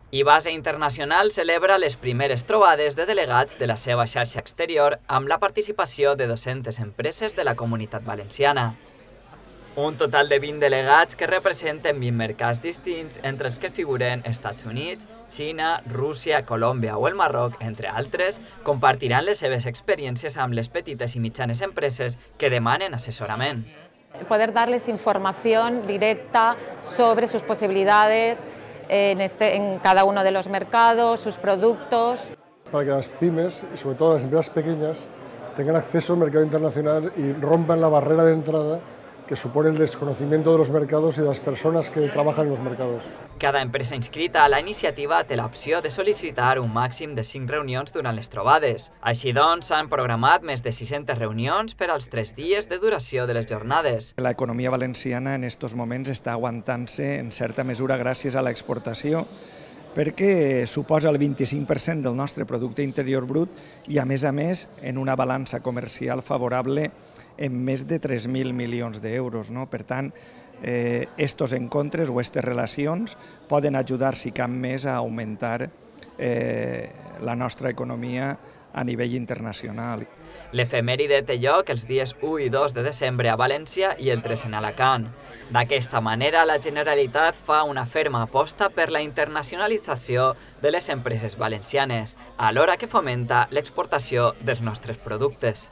Ibase Internacional celebra les primeres trobades de delegats de la seva xarxa exterior amb la participació de 200 empreses de la Comunitat Valenciana. Un total de 20 delegats que representen 20 mercats distints, entre els que figuren Estats Units, Xina, Rússia, Colòmbia o el Marroc, entre altres, compartiran les seves experiències amb les petites i mitjanes empreses que demanen assessorament. Poder darles información directa sobre sus posibilidades en cada uno de los mercados, sus productos. Para que las pymes, y sobre todo las empresas pequeñas, tengan acceso al mercado internacional y rompan la barrera de entrada que supone el desconocimiento de los mercados y de las personas que trabajan en los mercados. Cada empresa inscrita a la iniciativa té l'opció de sol·licitar un màxim de 5 reunions durant les trobades. Així doncs, s'han programat més de 600 reunions per als 3 dies de duració de les jornades. La economia valenciana en estos moments està aguantant-se en certa mesura gràcies a l'exportació, perquè suposa el 25% del nostre producte interior brut i, a més, en una balança comercial favorable en més de 3.000 milions d'euros. Per tant, estos encontres o aquestes relacions poden ajudar, si cap més, a augmentar la nostra economia a nivell internacional. L'efemèride té lloc els dies 1 i 2 de desembre a València i el 3 en Alacant. D'aquesta manera, la Generalitat fa una ferma aposta per la internacionalització de les empreses valencianes, alhora que fomenta l'exportació dels nostres productes.